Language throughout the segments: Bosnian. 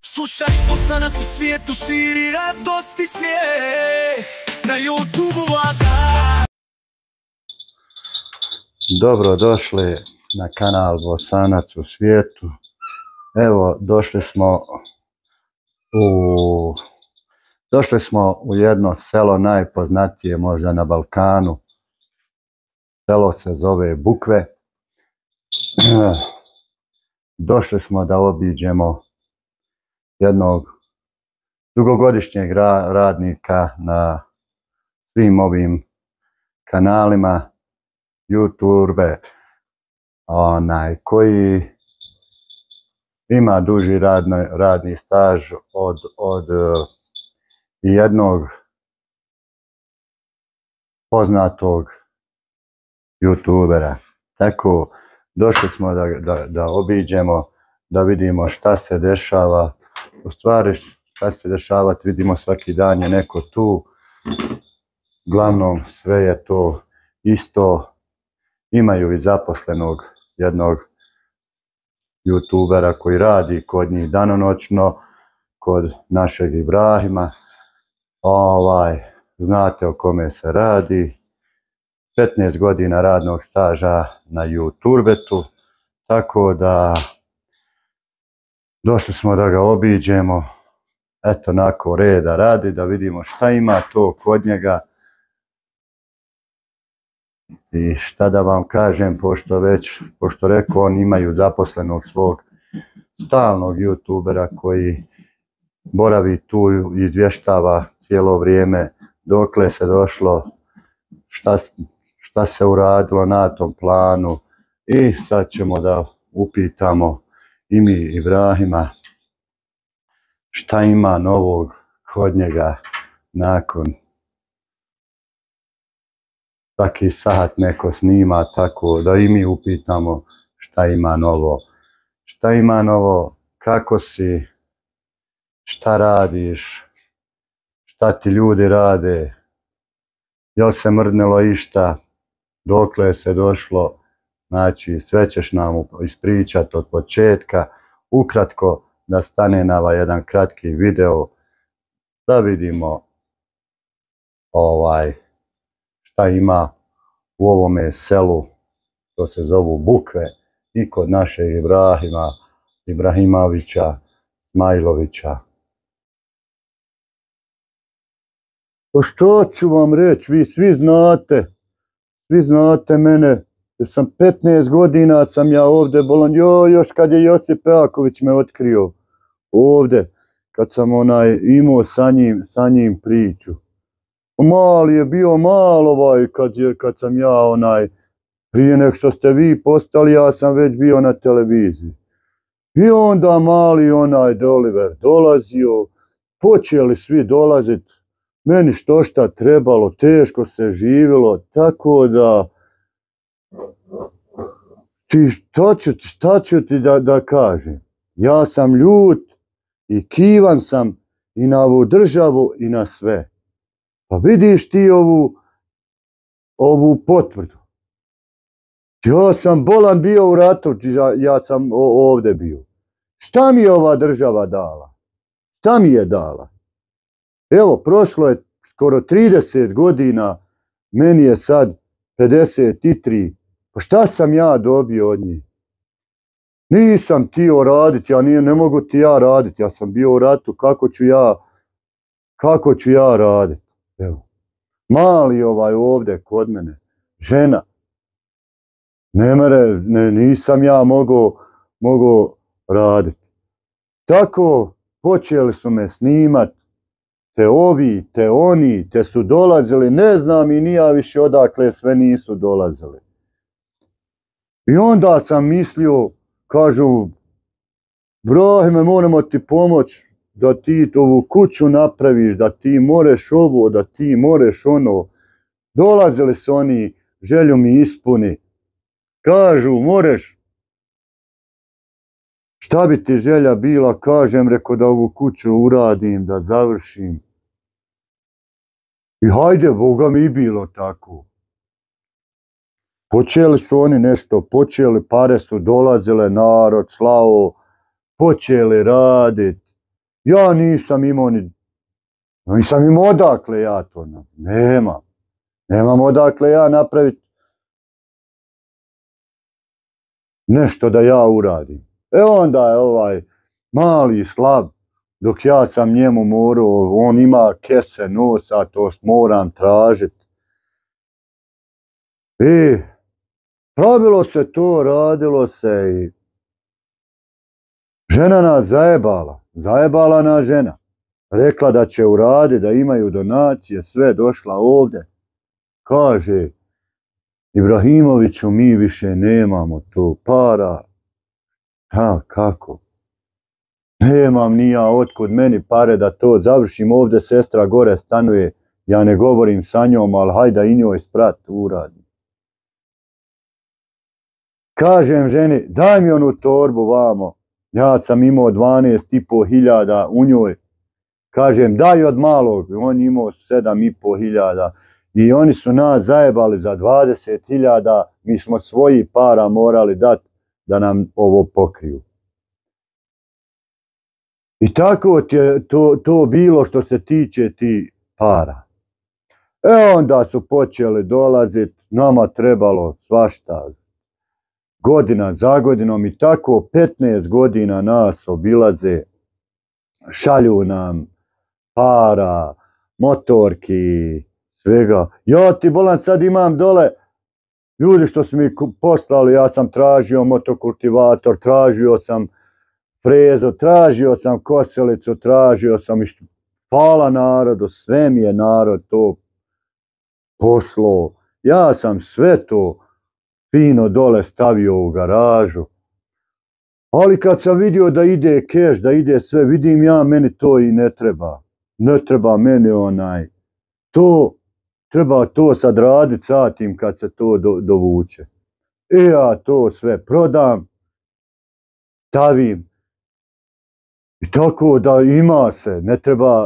Slušaj, Bosanac u svijetu širi radost i smijeh na YouTube vlada. Dobro došli na kanal Bosanac u svijetu. Evo, došli smo u jedno selo najpoznatije možda na Balkanu. Selo se zove Bukve. Došli smo da obiđemo jednog dugogodišnjeg radnika na svim ovim kanalima YouTube, koji ima duži radni staž od jednog poznatog YouTubera. Tako, došli smo da obiđemo, da vidimo šta se dešava. U stvari, šta se dešavati, vidimo svaki dan je neko tu. Uglavnom, sve je to isto. Imaju i zaposlenog jednog YouTubera koji radi kod njih danonoćno, kod našeg Ibrahima. Znate o kome se radi. 15 godina radnog staža na YouTubetu, tako da došli smo da ga obiđemo, eto nakon reda radi, da vidimo šta ima to kod njega. I šta da vam kažem, pošto rekao, on imaju zaposlenog svog stalnog YouTubera koji boravi tu i izvještava cijelo vrijeme dokle se došlo, šta se uradilo na tom planu. I sad ćemo da upitamo i mi Ibrahima šta ima novog kod njega nakon svaki sat neko snima, tako da i mi upitamo šta ima novo. Šta ima novo, kako si, šta radiš, šta ti ljudi rade, jel se mrdnelo išta, dokle se došlo. Znači, sve ćeš nam ispričati od početka, ukratko da stane na ovaj jedan kratki video, da vidimo šta ima u ovome selu, to se zovu Bukve, i kod našeg Ibrahimovića, Smajlovića. Pa što ću vam reći, vi svi znate mene. Jer sam 15 godina sam ja ovdje bolan, još kad je Josip Pejaković me otkrio ovdje, kad sam imao sa njim priču. Mali je bio, kad sam ja prije nek što ste vi postali, ja sam već bio na televiziji. I onda mali Oliver dolazio, počeli svi dolazit, meni što šta trebalo, teško se živjelo, tako da šta ću ti da kažem? Ja sam ljut i kivan sam i na ovu državu i na sve. Pa vidiš ti ovu potvrdu. Ja sam bolan bio u ratu, ja sam ovdje bio. Šta mi je ova država dala? Šta mi je dala? Evo, prošlo je skoro 30 godina, meni je sad 53. Pa šta sam ja dobio od njih? Nisam tio raditi, ne mogu ti ja raditi, ja sam bio u ratu, kako ću ja raditi? Evo, mali ovdje kod mene, žena, nisam ja mogao raditi. Tako počeli su me snimat, te ovi, te oni, te su dolazili, ne znam i nija više odakle sve nisu dolazili. I onda sam mislio, kažu, Brahime, moramo ti pomoć da ti ovu kuću napraviš, da ti moreš ovo, da ti moreš ono. Dolazili su oni, želju mi ispuni. Kažu, moreš. Šta bi ti želja bila, kažem, reko da ovu kuću uradim, da završim. I hajde, Boga mi i bilo tako. Počeli su oni nešto, pare su dolazile, narod slao, počeli raditi. Ja nisam imao odakle ja to nemam odakle ja napraviti nešto da ja uradim. Onda je ovaj mali slab, dok ja sam njemu morao, on ima kese nosa, to moram tražiti. I pravilo se to, radilo se i žena nas zajebala na žena. Rekla da će uraditi, da imaju donacije, sve došla ovdje. Kaže, Ibrahimoviću, mi više nemamo to para. Kako? Nemam ni ja otkud meni pare da to završim, ovdje sestra gore stanuje, ja ne govorim sa njom, ali hajda i njoj sprat uradim. Kažem ženi, daj mi onu torbu vamo, ja sam imao 12.500 u njoj. Kažem, daj od malog, on imao 7.500 i oni su nas zajebali za 20.000, mi smo svoji para morali dati da nam ovo pokriju. I tako je to bilo što se tiče ti para. Onda su počeli dolaziti, nama trebalo svašta, godina za godinom i tako 15 godina nas obilaze, šalju nam para, motorki, svega. Ja ti bolan sad imam dole, ljudi što su mi poslali, ja sam tražio motokultivator, tražio sam frezu, tražio sam kosilicu, tražio sam išto. Hvala narodu, sve mi je narod to poslao. Ja sam sve to fino dole stavio u garažu. Ali kad sam vidio da ide keš, da ide sve, vidim ja, meni to i ne treba. Ne treba meni to, treba to sad radit satim kad se to dovuče. Ja to sve prodam, stavim. I tako da ima se,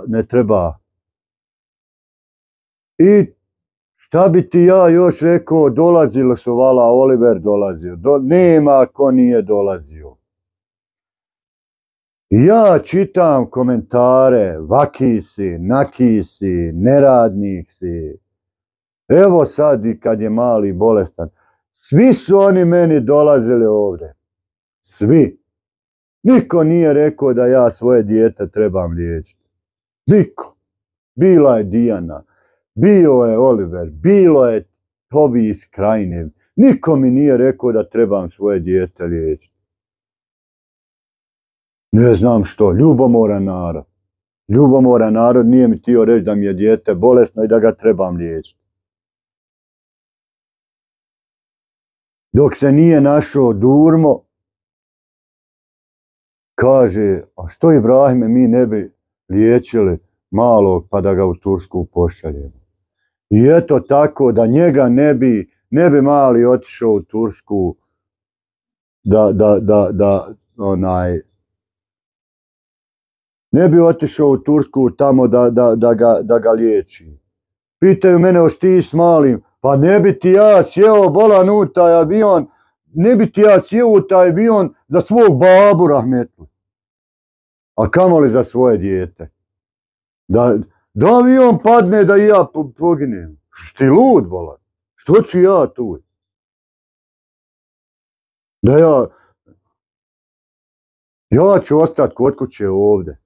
ne treba. I šta bi ti ja još rekao, dolazilo su, vala, Oliver dolazio. Nema ko nije dolazio. Ja čitam komentare, vaki si, naki si, neradnik si. Evo sad i kad je mali bolestan. Svi su oni meni dolazili ovdje. Svi. Niko nije rekao da ja svoje dijete trebam liječiti. Niko. Bila je Dijana, bio je Oliver, bilo je Tobi iz Krajine. Niko mi nije rekao da trebam svoje dijete liječiti. Ne znam što, ljubomoran narod. Ljubomoran narod nije mi htio reći da mi je dijete bolesno i da ga trebam liječiti. Dok se nije našao Durmo, kaže, a što Ibrahime mi ne bi liječili malog pa da ga u Tursku pošaljemo. I eto tako da njega ne bi mali otišao u Tursku ne bi otišao u Tursku tamo da ga liječi. Pitaju mene, hoš ti s malim? Pa ne bi ti ja sjeo bolan u taj avion, ne bi ti ja sjeo u taj avion za svog babu rahmetlu. A kamoli za svoje dijete. Da avion padne da i ja poginem. Ti lud bolan? Što ću ja tu? Da ja ću ostati kod kuće ovdje.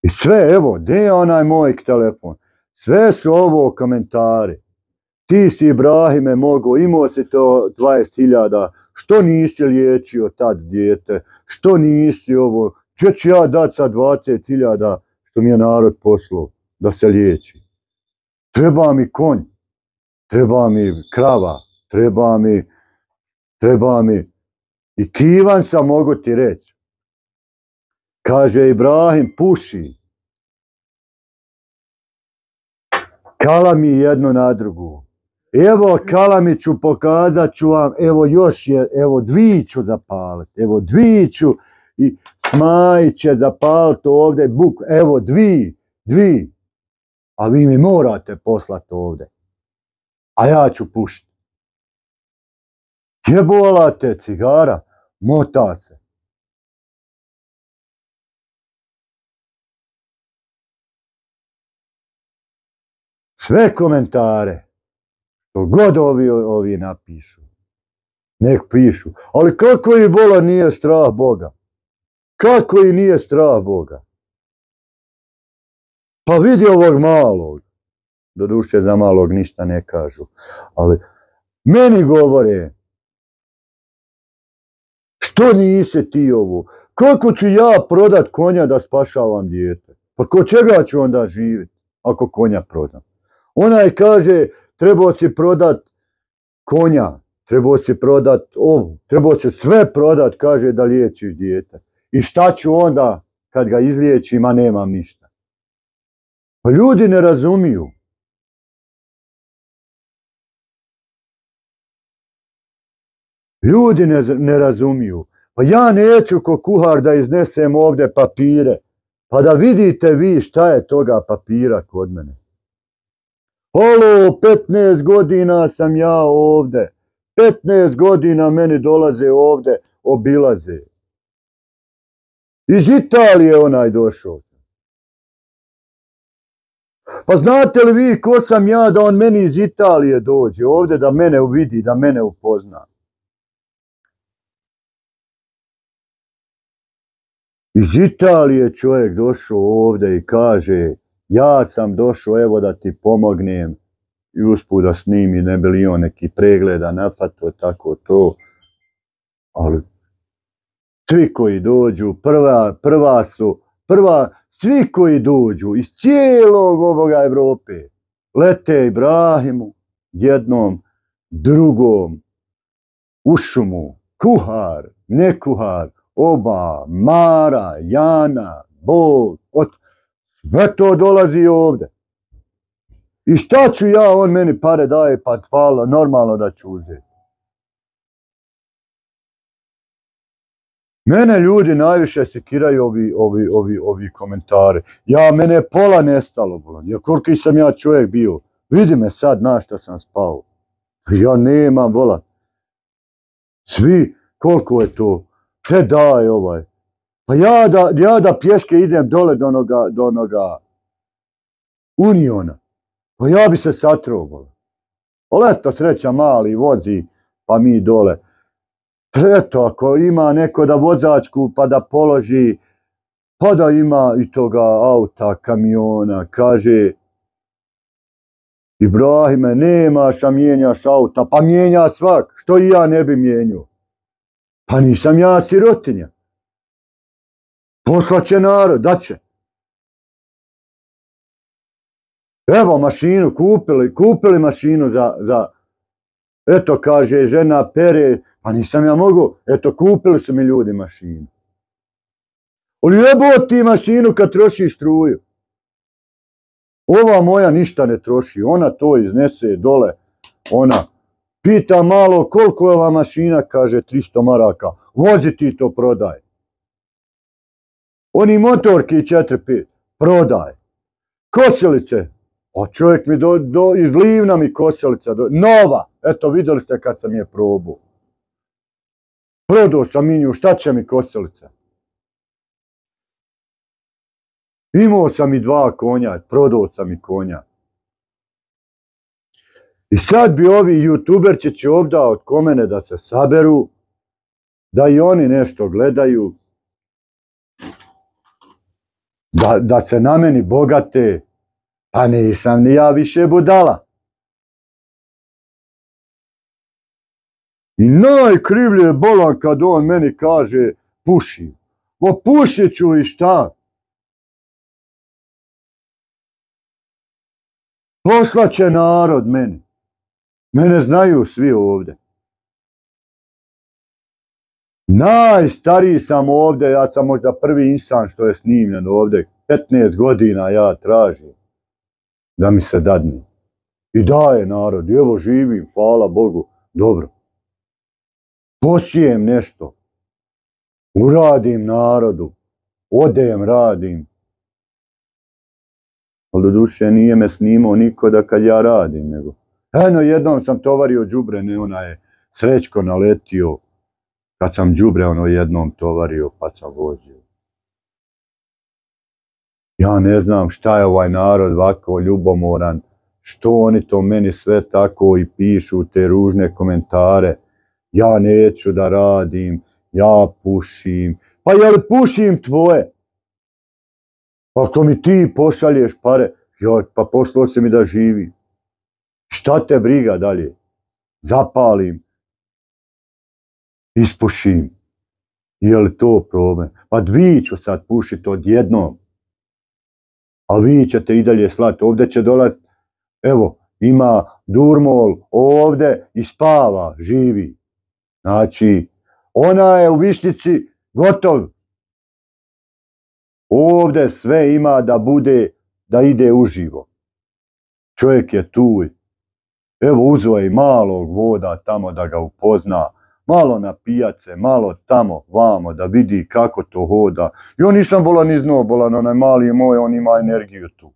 I sve, evo, gdje je onaj moj telefon? Sve su ovo komentari. Ti si Ibrahime mogao, imao si to 20.000, što nisi liječio tad dijete, što nisi ovo, če ću ja dati sad 20.000 što mi je narod poslao da se liječi. Treba mi konj, treba mi krava, treba mi i kivan sam, mogu ti reći. Kaže Ibrahim, puši. Kalami jedno na drugu. Evo kalami ću, pokazat ću vam, evo još je, evo dvi ću zapaliti, evo dvi ću i Smajit će zapaliti ovdje buk, evo dvi, a vi mi morate poslati ovdje, a ja ću pušiti. Jebola te cigara, mota se. sve komentare, što god ovi napišu, nek pišu. Ali kako i bola nije strah Boga? Kako i nije strah Boga? Pa vidi ovog malog. Doduše za malog ništa ne kažu. Ali meni govore, što nisi ti ovo? Kako ću ja prodat konja da spašavam dijete? Pa ko čega ću onda živjeti ako konja prodam? Onaj kaže, trebao si prodat konja, trebao si prodat ovu, trebao si sve prodat, kaže da liječiš dijete. I šta ću onda kad ga izliječim, a nemam ništa? Pa ljudi ne razumiju. Ljudi ne razumiju. Pa ja neću ko kuhar da iznesem ovdje papire, pa da vidite vi šta je toga papira kod mene. Halo, 15 godina sam ja ovdje. 15 godina meni dolaze ovdje, obilaze. Iz Italije onaj došao. Pa znate li vi ko sam ja da on meni iz Italije dođe ovdje, da mene uvidi, da mene upozna? Iz Italije čovjek došao ovdje i kaže, ja sam došao evo da ti pomognem i usput da snimi, ne bi li on neki pregleda napato, tako to. Ali svi koji dođu, svi koji dođu iz cijelog ovoga Evrope, lete Ibrahimu, jednom, drugom, u šumu, kuhar, ne kuhar, oba, Mara, Jana, Bog, sve to dolazi ovdje. I šta ću ja, on meni pare daje, pa hvala, normalno da ću uzeti. Mene ljudi najviše sekiraju ovi komentari. Mene je pola nestalo, bolan. Koliki sam ja čovjek bio. Vidi me sad na šta sam spao. Ja nemam, bolan. Svi, koliko je to? Te daje ovaj. Pa ja da pješke idem dole do onoga Uniona. Pa ja bi se satrao, bolan. Leto sreća mali vozi, pa mi dole. Eto, ako ima neko da vozačku pa da položi, pa da ima i toga auta, kamiona, kaže Ibrahime, nemaš, a mijenjaš auta, pa mijenja svak, što i ja ne bi mijenjao. Pa nisam ja sirotinja. Poslaće narod, daće. Evo mašinu, kupili mašinu za, eto kaže žena pere, pa nisam ja mogu, eto kupili su mi ljudi mašinu. Ali jebo ti mašinu kad troši struju. Ova moja ništa ne troši, ona to iznese dole, ona pita malo koliko je ova mašina, kaže 300 maraka, vozi ti to prodaj. Oni motorki 4-5, prodaj. Kosilice, a čovjek mi iz Livna mi kosilica, nova, eto vidjeli ste kad sam je probao. Prodao sam minju, šta će mi kosilica? Imao sam i 2 konja, prodao sam i konja. I sad bi ovi youtuberčići ovdje od komene da se saberu, da i oni nešto gledaju, da se na meni bogate, pa nisam ni ja više budala. I najkrivlje je bolan kad on meni kaže puši. O pušit ću i šta? Poslaće narod meni. Mene znaju svi ovdje. Najstariji sam ovdje, ja sam možda prvi insan što je snimljen ovdje. 15 godina ja tražim da mi se dadne. I daje narod, evo živim, hvala Bogu, dobro. Posijem nešto, uradim narodu, odem, radim. Ali do duše nije me snimao niko da kad ja radim, nego. Eno, jednom sam tovario đubre, ne ona je Srećko naletio, kad sam đubre jednom tovario, pa sam vozio. Ja ne znam šta je ovaj narod ovako ljubomoran, što oni to meni sve tako i pišu te ružne komentare. Ja neću da radim, ja pušim. Pa je li pušim tvoje? Pa ako mi ti pošalješ pare, pa poslao si mi da živim. Šta te briga dalje? Zapalim, ispušim. Je li to problem? Pa vi ću sad pušiti odjednom. A vi ćete i dalje slati. Ovdje će dolaziti, evo, ima Durmol ovdje i spava, živi. Znači, ona je u Višnjici gotov. Ovdje sve ima da bude, da ide uživo. Čovjek je tu. Evo, uzeo je malog voda tamo da ga upozna. Malo na pijace, malo tamo, vamo, da vidi kako to hoda. Jo, nisam bolan ni znao, bolan, onaj mali je moj, on ima energiju tu.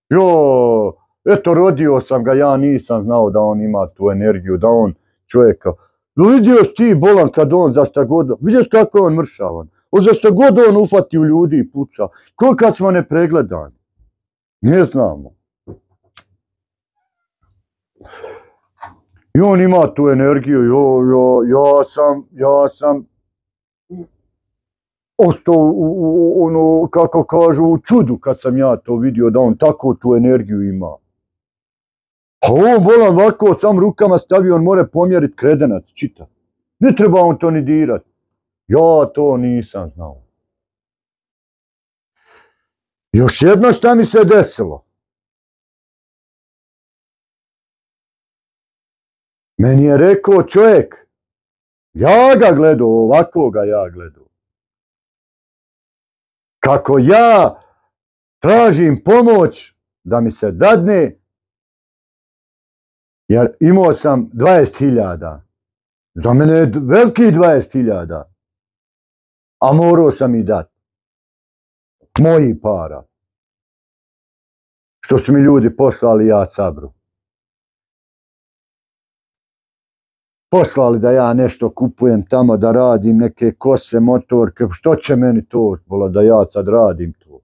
Jo, eto, rodio sam ga, ja nisam znao da on ima tu energiju, da on čovjeka. Vidio si ti, bolan, kad on za šta god, vidio si kako je on mršavan. Za šta god on ufati u ljudi i puca. Ko kad smo nepregledani? Ne znamo. I on ima tu energiju, ja sam ostao ono, kako kažu, u čudu kad sam ja to vidio da on tako tu energiju ima. A on bolan ovako sam rukama stavio, on more pomjeriti kredenac, čita. Ne treba on to ni dirat. Ja to nisam znao. Još jedno šta mi se desilo. Meni je rekao čovjek, ja ga gledao, ovako ga ja gledao. Kako ja tražim pomoć da mi se dadne, jer imao sam 20.000. Za mene je veliki 20.000. A morao sam i dati. Mojih para. Što su mi ljudi poslali, ja sabru. Poslali da ja nešto kupujem tamo, da radim neke kose, motorke, što će meni to, da ja sad radim to.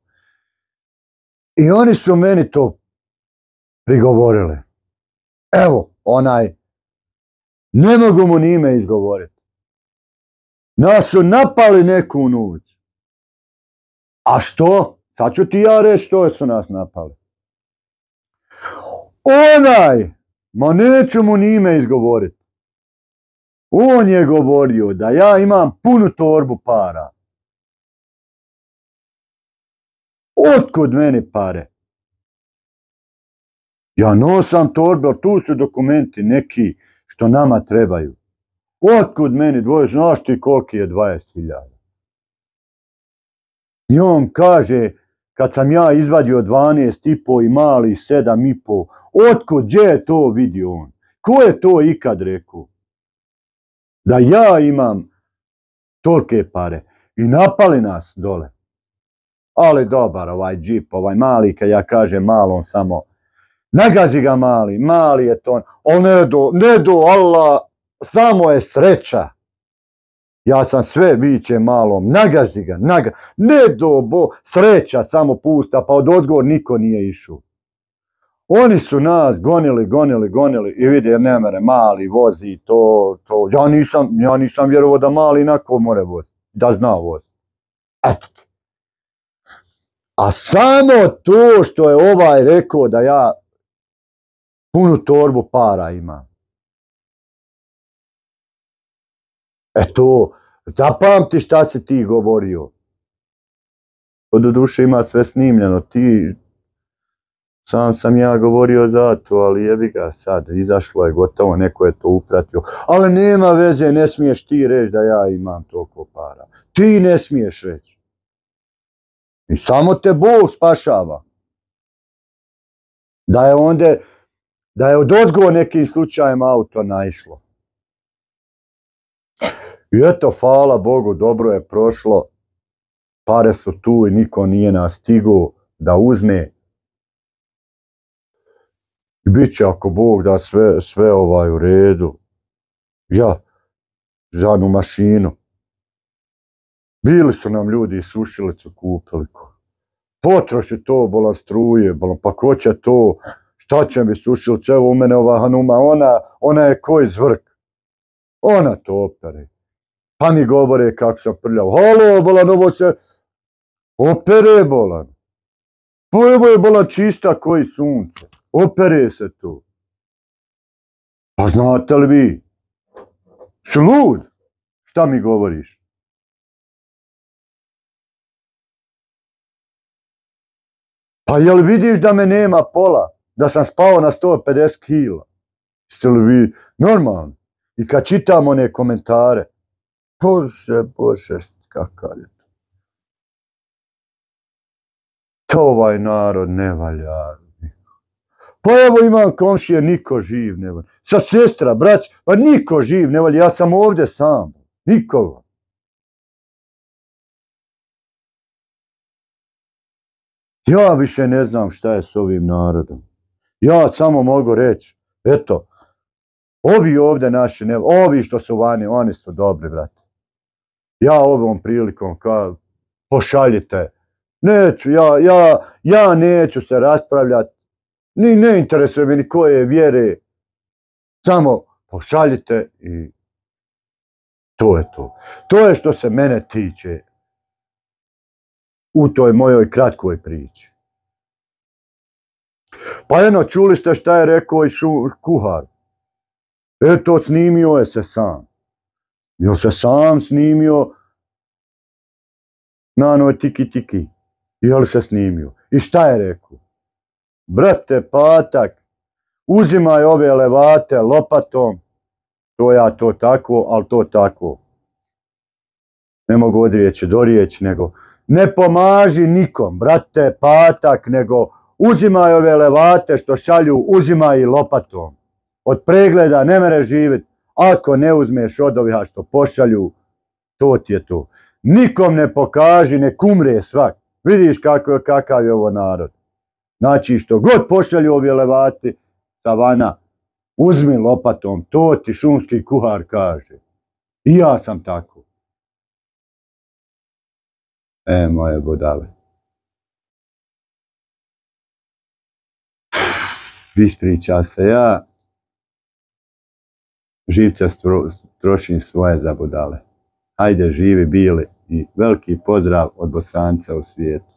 I oni su meni to prigovorili. Evo, onaj, ne mogu mu ni ime izgovoriti. Nas su napali neku noć. A što? Sad ću ti ja reći što su nas napali. Onaj, ma neću mu ni ime izgovoriti. On je govorio da ja imam punu torbu para. Otkud meni pare? Ja nosam torbu, ali tu su dokumenti neki što nama trebaju. Otkud meni dvoje, znaš ti koliki je 20.000? I on kaže, kad sam ja izvadio 12,5 i mali 7,5, otkud, gdje je to vidio on? Ko je to ikad rekao? Da ja imam tolike pare. I napali nas dole. Ali dobar ovaj džip, ovaj mali, kad ja kažem malom samo, nagazi ga mali je to. On ne do, Allah, samo je sreća. Ja sam sve viće malom, nagazi ga, ne do, sreća samo pusta, pa od odgovor niko nije išao. Oni su nas gonili i vidi, ne mere, mali vozi to. Ja nisam vjerovao da mali inako more vozi, da zna vozi. Eto ti. A samo to što je ovaj rekao da ja punu torbu para imam. Eto, zapamti šta si ti govorio. Do duše ima sve snimljeno, sam ja govorio za to, ali jebi ga sad, izašlo je gotovo, neko je to upratio. Ali nema veze, ne smiješ ti reći da ja imam toliko para. Ti ne smiješ reći. I samo te Bog spašava. Da je od odgovor nekim slučajem auto naišlo. I eto, hvala Bogu, dobro je prošlo. Pare su tu i niko nije nas stigao da uzme. I bit će ako Bog da sve u redu. Ja, žadnu mašinu. Bili su nam ljudi i sušilicu kupili. Potroši to, bolan struje, pa ko će to, Šta će mi sušilče, evo u mene ova Hanuma, ona je koji zvrk. Ona to opere. Pa mi govore kako sam prljav. Halo, bolan, ovo se opere, bolan. Pa evo je bolan čista koji sunce. Opere se tu. Pa znate li vi? Slud, šta mi govoriš? Pa jel vidiš da me nema pola? Da sam spao na 150 kila? Jeste li vi normalni? I kad čitam one komentare, Bože, kakav je to? To ovaj narod ne valja. Pa evo imam komšije, niko živ ne valja. Sa sestra, brać, pa niko živ ne valja. Ja sam ovdje sam. Nikoga. Ja više ne znam šta je s ovim narodom. Ja samo mogu reći, eto, ovi ovdje naši, ovi što su vani, oni su dobri, brate. Ja ovom prilikom kao, pošaljite. Neću, ja neću se raspravljati. Ni ne interesuje mi ni koje vjere. Samo pošaljite i to je to. To je što se mene tiče u toj mojoj kratkoj priči. Pa eno, čuli ste šta je rekao i kuhar. Eto, snimio je se sam. Jel se sam snimio na onoj tiki. Jel se snimio? I šta je rekao? Brate, Patak, uzimaj ove levate lopatom. To tako, ali to tako. Ne mogu od riječi do riječi, nego ne pomaži nikom, brate, Patak, nego uzimaj ove levate što šalju, uzimaj i lopatom. Od pregleda ne mere živjeti. Ako ne uzmeš od ovih što pošalju, to ti je to. Nikom ne pokaži, nek umre svak. Vidiš kakav je ovo narod. Znači što god pošalju ovi levati sa vana, uzmi lopatom, to ti šumski kuhar kaže. I ja sam tako. Moje budale. Ispriča se ja. Živce trošim svoje za budale. Hajde, živi bili i veliki pozdrav od Bosanca u svijetu.